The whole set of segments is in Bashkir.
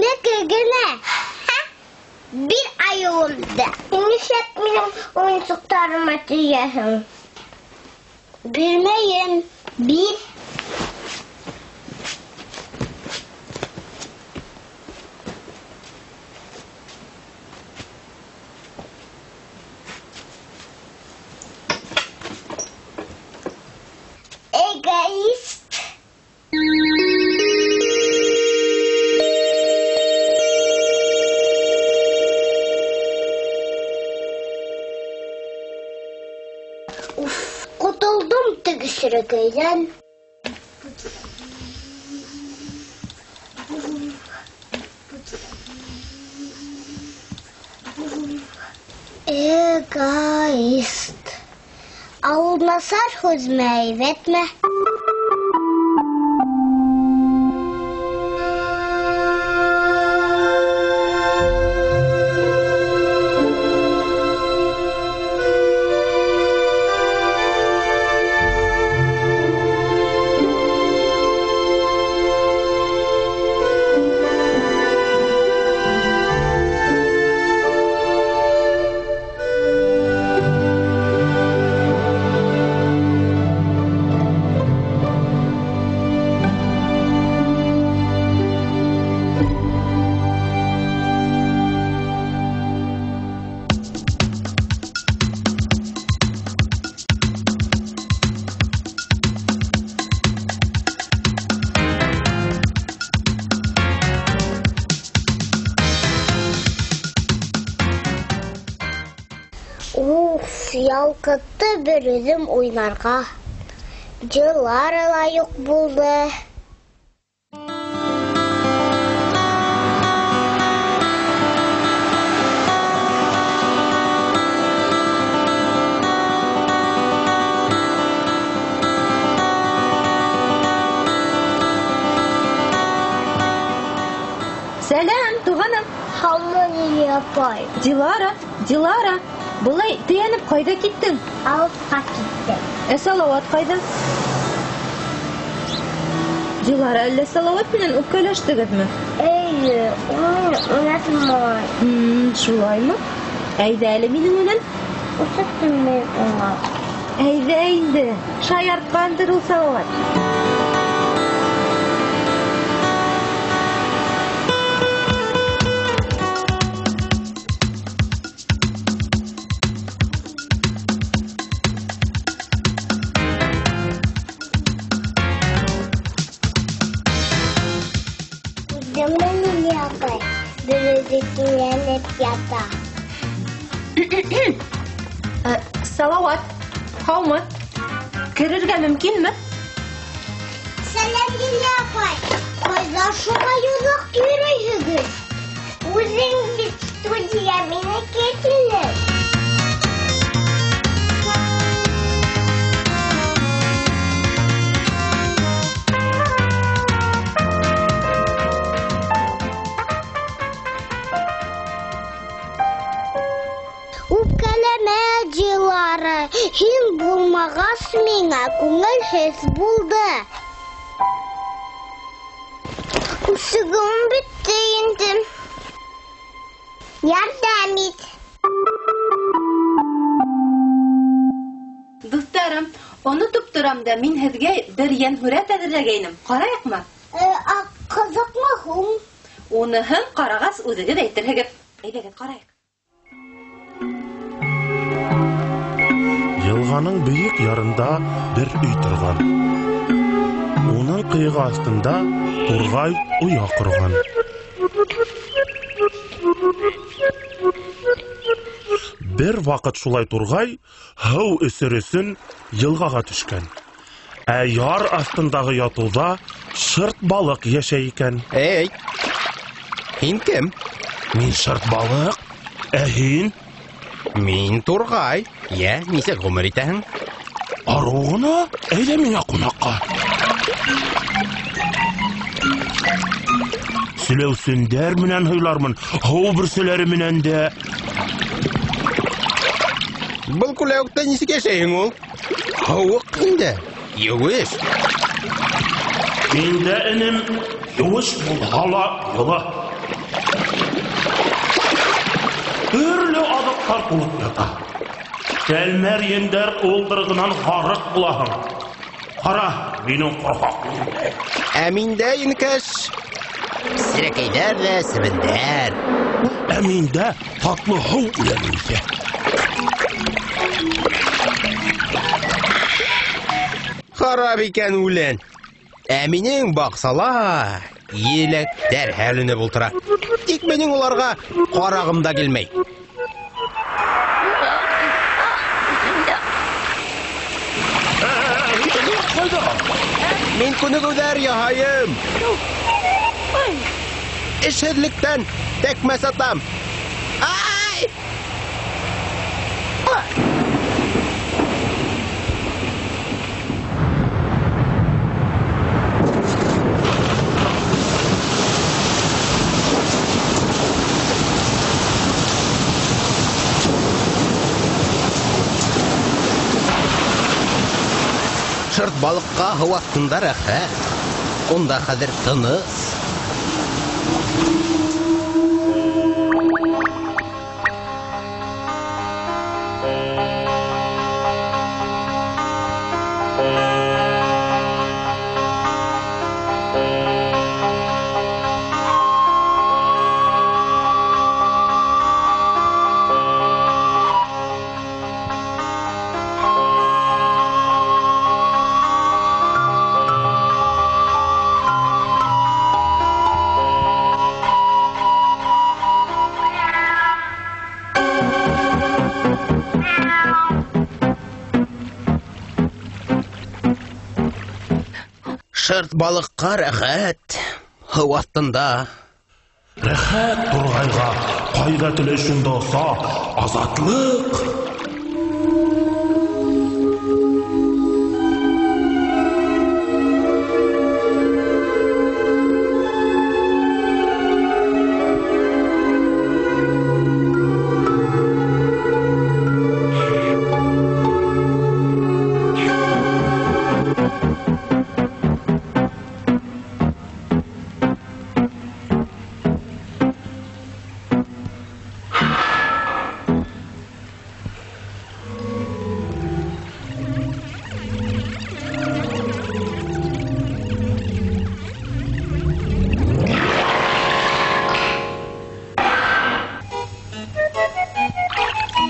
Үҙенеке генә. Бир айыуымды. Нишләп минең уйынсыҡтарыма тейәһең? Бирмәйем. Бир. Эгоист. Уф, ҡотолдом теге серәкәйҙән. Эгоист. Ә ул насар һүҙме, әйбәтме? Уф, ялҡытты бер үҙем уйнарға. Дилара ла юҡ булды. Сәләм, туғаным. Һаумы, Лилия апай. Дилара, Дилара, былай тейәнеп ҡайҙа киттең? Алыҫҡа киттем. Ә Салауат ҡайҙа? Дилара, әллә Салауат менән үпкәләштегеҙме? Эйе, ул мине уйнатмай. Шулаймы? Әйҙә әле минең менән. Үсектем мин уңа. Әйҙә инде, шаяртҡандыр ул Салауат. Ята. Салауат, һаумы? Керергә мөмкинме? Сәләм, Лилия апай. Ҡайҙа шулай оҙаҡ йөрөйһөгөҙ? Үҙең бит студия мине килде. Үпкәләмә, Дилара, һин булмағас миңә күңелһеҙ булды. Үсегем бөттө инде. Ярҙам ит. Дуҫтарым, онотоп торам да мин һеҙгә бер йәнһүрәт әҙерләгәйнем. Ҡарайыҡмы? Ҡыҙыҡмы һуң? Уныһын ҡарағас үҙегеҙ әйтерһегеҙ. Әйҙәгеҙ, ҡарайыҡ. Йылғаның бейек ярында бер өй торған. Уның ҡыйығы аҫтында турғай оя ҡорған. Бер ваҡыт шулай турғай һыу эсер өсөн йылғаға төшкән. Ә яр аҫтындағы ятыуҙа шырт балыҡ йәшәй икән. Эй, һин кем? Мин шырт балыҡ. Ә һин? Мин турғай. Йә, нисек ғүмер итәһең? Арыу ғына. Әйҙә миңә ҡунаҡҡа. Селәүсендәр менән һыйлармын, һыу бөрсәләре менән дә. Был күләүектә нисек йәшәйһең ул? Һыуыҡ инде, еүеш. Миндә, энем, еүеш булһа ла йылы. Төрлө аҙыҡтар тулып ята. Тәлмәрйендәр уылдырығынан ғарыҡ булаһың. Ҡара, минең ҡорһаҡ миндә. Ә миндә, инкәш, серәкәйҙәр ҙә себендәр. Ә миндә татлы һыу үләне үҫә. Харап икән үлән. Ә минең баҡсала еләктәр һәленеп ултыра. Тик минең уларға ҡарағым да килмәй. Ҡайҙа? Мин күнегеүҙәр яһайым. Эшһеҙлектән тәкмәс атам. Ай! Шырт балыҡҡа һыу аҫтында рәхәт. Унда хәҙер тыныс. Шырт балыҡҡа рәхәт, һыу аҫтында. Рәхәт турғайға, ҡайҙа теләй шунда оса, азатлыҡ.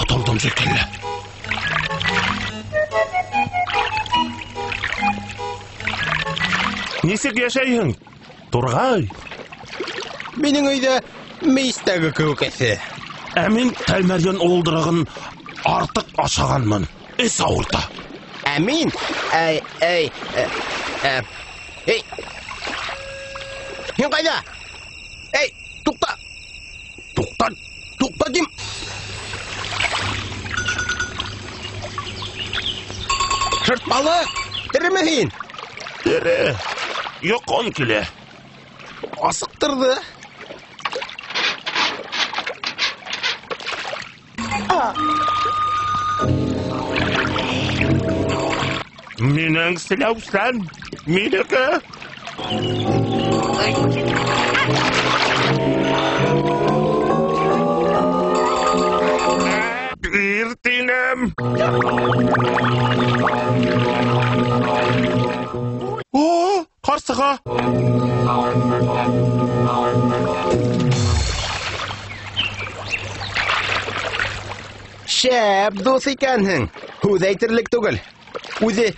Ҡотолдом шикелле. Нисек йәшәйһең, турғай? Минең өйҙә мейестәге кеүек эҫе. Ә мин тәлмәрйен уылдырығын артыҡ ашағанмын. Эс ауырта. Ә мин, әй, әй, эй, һин ҡайҙа? Эй, туҡта! Туҡта, туҡта тим! Шырт балыҡ, тереме һин? Тере. Йоҡом килә. Асыҡтырҙы. Минең селәүсән, минеке. Бир тинем. О, ҡарсыға. Шәп дуҫ икәнһең. Һүҙ әйтерлек түгел. Үҙе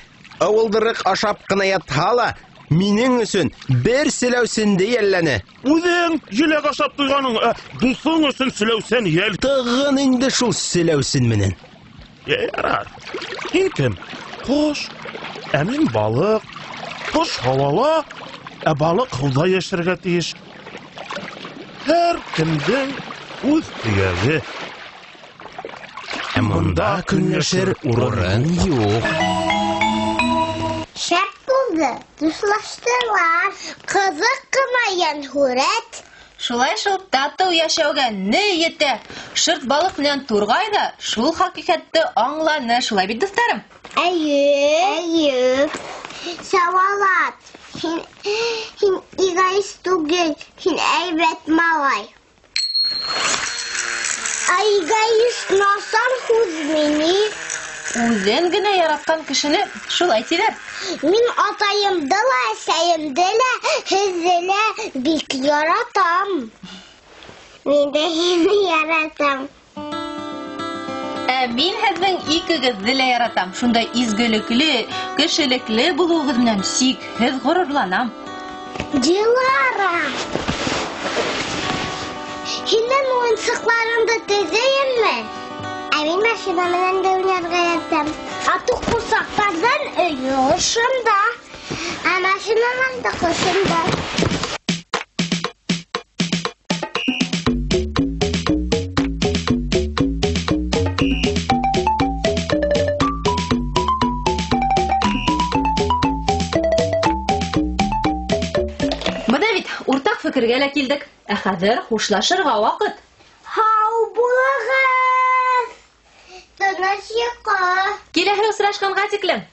ыуылдырыҡ ашап ҡына ятһа ла, минең өсөн бер селәүсенде йәлләне. Үҙең еләк ашап туйғаның, ә дуҫың өсөн селәүсен йәл. Тығын инде шул селәүсен менән. Ярар. Һин кем? Ҡош. Ә мин балыҡ. Ҡош һауала, ә балыҡ һыуҙа йәшәргә тейеш. Һәр кемдең үҙ төйәге. Ә бында көнләшер урын юҡ. Шәп булды, дуҫлаштылар. Ҡыҙыҡ ҡына йәнһүрәт. Шулай шул татыу йәшәүгә ни етә? Шырт балыҡ менән турғай ҙа шул хәҡиҡәтте аңланы. Шулай бит, дуҫтарым? Эйе. Эйе. Салауат, һин эгоист түгел, һин әйбәт малай. Ә эгоист насар һүҙме ни? Үҙен генә яратҡан кешене шулай тиҙәр. Мин атайымды ла, әсәйемде лә, һеҙҙе лә бик яратам. Мин дә һине яратам. Ә мин һеҙҙең икегеҙҙе лә яратам. Шундай изгелекле, кешелекле булыуығыҙ менән сикһеҙ ғорурланам. Дилара! Һинең уйынсыҡларыңды төҙөйөммө? Ә мин машина менән дә уйнарға яратам. Атыҡ ҡурсаҡтарҙың өйө ошонда. Ә машиналар ҙа ошонда. Бына бит уртаҡ фекергә лә килдек. Ә хәҙер хушлашырға ваҡыт. Һау булығыҙ! Тыныс йоҡо! Киләһе осрашҡанға тиклем.